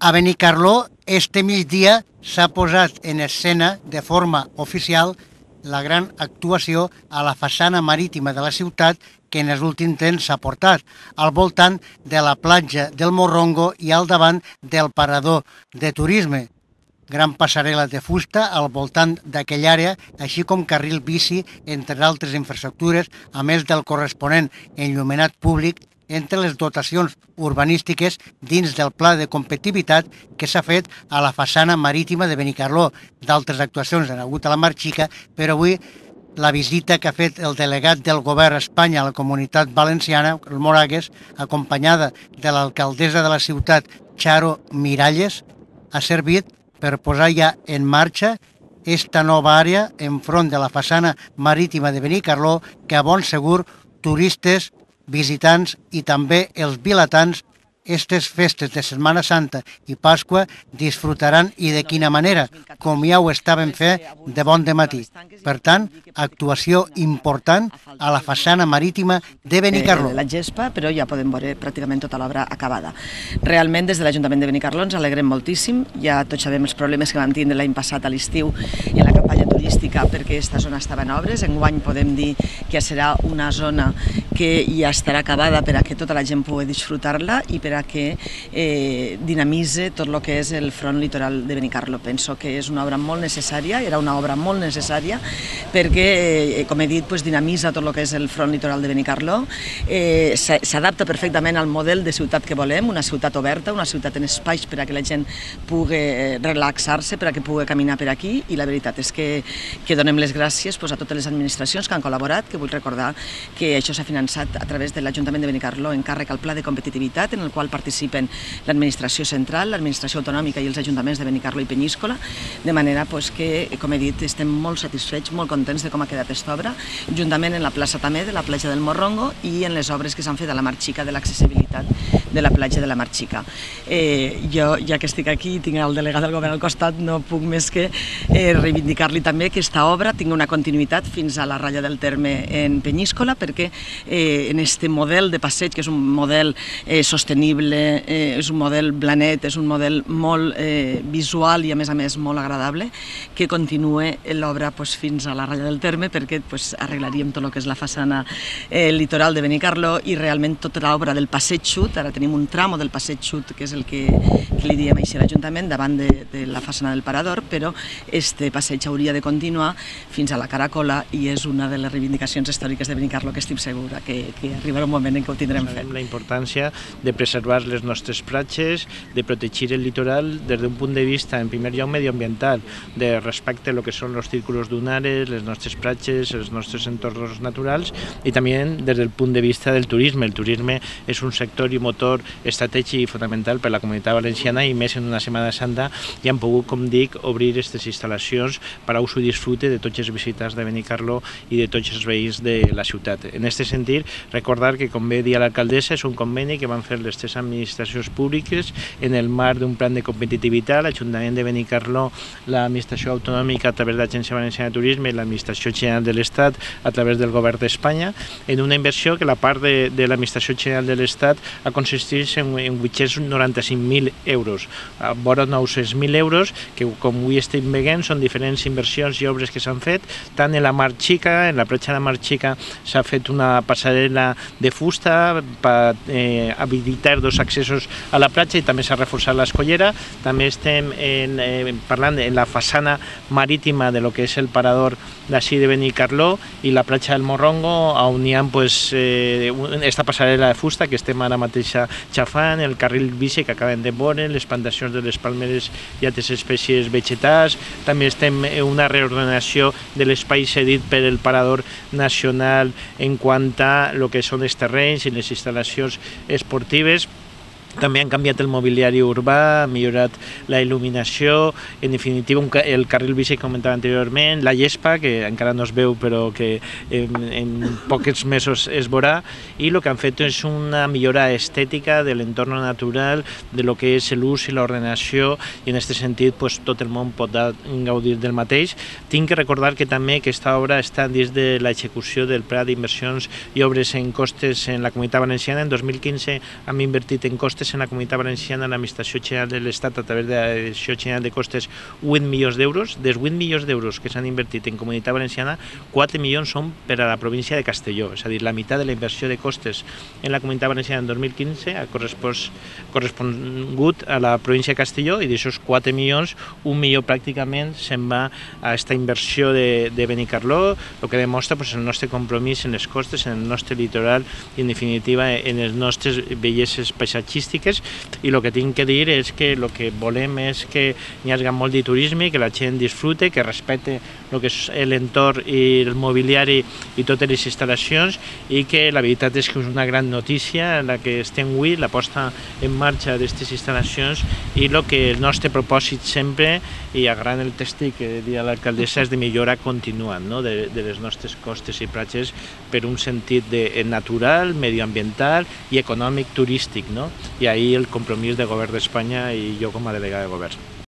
A Benicarló, este migdia s'ha posat en escena de forma oficial la gran actuació a la façana marítima de la ciutat que en els últims temps s'ha portat, al voltant de la platja del Morrongo i al davant del parador de turisme. Gran passarel·la de fusta al voltant d'aquella àrea, així com carril bici, entre altres infraestructures, a més del corresponent enllumenat públic entre les dotacions urbanístiques dins del pla de competitivitat que s'ha fet a la façana marítima de Benicarló. D'altres actuacions han hagut a la Mar Xica, però avui la visita que ha fet el delegat del govern a Espanya a la Comunitat Valenciana, el Moragues, acompanyada de l'alcaldessa de la ciutat, Charo Miralles, ha servit per posar ja en marxa esta nova àrea enfront de la façana marítima de Benicarló que a bon segur turistes, visitants i també els vilatans aquestes festes de Setmana Santa i Pasqua disfrutaran i de quina manera, com ja ho estaven fent de bon dematí. Per tant, actuació important a la façana marítima de Benicarló. La gespa, però ja podem veure pràcticament tota l'obra acabada. Realment, des de l'Ajuntament de Benicarló ens alegrem moltíssim. Ja tots sabem els problemes que vam tindre l'any passat a l'estiu i en la campanya turística perquè aquesta zona estava en obres. Enguany podem dir que serà una zona que ja estarà acabada per a que tota la gent pugui disfrutar-la i per a que dinamitzi tot el que és el front litoral de Benicarló. Penso que és una obra molt necessària, era una obra molt necessària perquè, com he dit, dinamitza tot el que és el front litoral de Benicarló, s'adapta perfectament al model de ciutat que volem, una ciutat oberta, una ciutat en espais per a que la gent pugui relaxar-se, per a que pugui caminar per aquí, i la veritat és que donem les gràcies a totes les administracions que han col·laborat, que vull recordar que això s'ha finançat a través de l'Ajuntament de Benicarló en càrrec al Pla de Competitivitat, en el qual participen l'administració central, l'administració autonòmica i els ajuntaments de Benicarló i Peníscola, de manera que, com he dit, estem molt satisfets, molt contents de com ha quedat aquesta obra, juntament en la plaça també de la platja del Morrongo i en les obres que s'han fet a la Mar Xica de l'accessibilitat de la platja de la Mar Xica. Jo, ja que estic aquí i tinc el delegat del govern al costat, no puc més que reivindicar-li també que aquesta obra tingui una continuïtat fins a la ratlla del terme en Peníscola, perquè en aquest model de passeig, que és un model sostenible, és un model blanet, és un model molt visual i a més molt agradable, que continue l'obra fins a la ratlla del terme, perquè arreglaríem tot el que és la façana litoral de Benicarló i realment tota l'obra del passeig xut. Ara tenim un tramo del passeig xut, que és el que li diem així a l'Ajuntament, davant de la façana del Parador, però este passeig hauria de continuar fins a la Caracola i és una de les reivindicacions històriques de Benicarló que estic segura que arribarà un moment en què ho tindrem fet. La importància de preservar les nostres platges, de protegir el litoral des d'un punt de vista, en primer lloc, medioambiental, de respecte a lo que són els círculos dunares, les nostres platges, els nostres entorns naturals i també des del punt de vista del turisme. El turisme és un sector i motor estratègic i fonamental per a la Comunitat Valenciana i més en una Setmana Santa i han pogut, com dic, obrir aquestes instal·lacions per a ús i disfrute de tots els visitants de Benicarló i de tots els veïns de la ciutat. En aquest sentit, recordar que, com bé dia l'alcaldessa, és un conveni que van fer les tres administracions públiques en el marc d'un plan de competitivitat, l'Ajuntament de Benicarló, l'Administració Autonòmica a través de l'Agència Valenciana de Turisme i l'Administració General de l'Estat a través del Govern d'Espanya, en una inversió que la part de l'Administració General de l'Estat ha consistit en 895.000 euros, vora 900.000 euros, que com avui estem veient són diferents inversions i obres que s'han fet, tant en la Mar Xica, en la platja de la Mar Xica s'ha fet una passarel·la de fusta per habilitar dos accessos a la platja i també s'ha reforçat l'escollera. També estem parlant en la façana marítima de lo que és el parador d'ací de Benicarló i la platja del Morrongo, on hi ha esta passarel·la de fusta que estem ara mateix xafant, el carril bici que acabem de veure, les plantacions de les palmeres i altres espècies vegetals. També estem en una reordenació de l'espai cedit per el Parador Nacional en quant a lo que són els terrenys i les instal·lacions esportives. També han canviat el mobiliari urbà, han millorat la il·luminació, en definitiva el carril bici que comentava anteriorment, la gespa, que encara no es veu però que en pocs mesos es veurà, i el que han fet és una millora estètica de l'entorn natural, de lo que és l'ús i l'ordenació, i en aquest sentit tot el món pot gaudir del mateix. Tinc que recordar que també aquesta obra està dins de l'execució del Pla d'Inversions i Obres en Costes en la Comunitat Valenciana. En 2015 hem invertit en costes costes en la Comunitat Valenciana, l'Administració General de l'Estat, a través de la Direcció General de Costes, 8 milions d'euros. Dels 8 milions d'euros que s'han invertit en Comunitat Valenciana, 4 milions són per a la província de Castelló, és a dir, la meitat de la inversió de costes en la Comunitat Valenciana en 2015 ha correspongut a la província de Castelló, i d'aixòs 4 milions, 1 milió pràcticament se'n va a aquesta inversió de Benicarló, el que demostra el nostre compromís en les costes, en el nostre litoral i, en definitiva, en les nostres belleses paisatgístiques. I el que tinc que dir és que el que volem és que hi hagi molt de turisme, que la gent disfrute, que respecte el que és l'entorn i el mobiliari i totes les instal·lacions, i que la veritat és que és una gran notícia la que estem avui, la posta en marxa d'aquestes instal·lacions, i el que el nostre propòsit sempre, i agarrant el tèstic que deia l'alcaldessa, és de millorar continuant de les nostres costes i platges per un sentit natural, medioambiental i econòmic turístic. I ahir el compromís del govern d'Espanya i jo com a delegada de govern.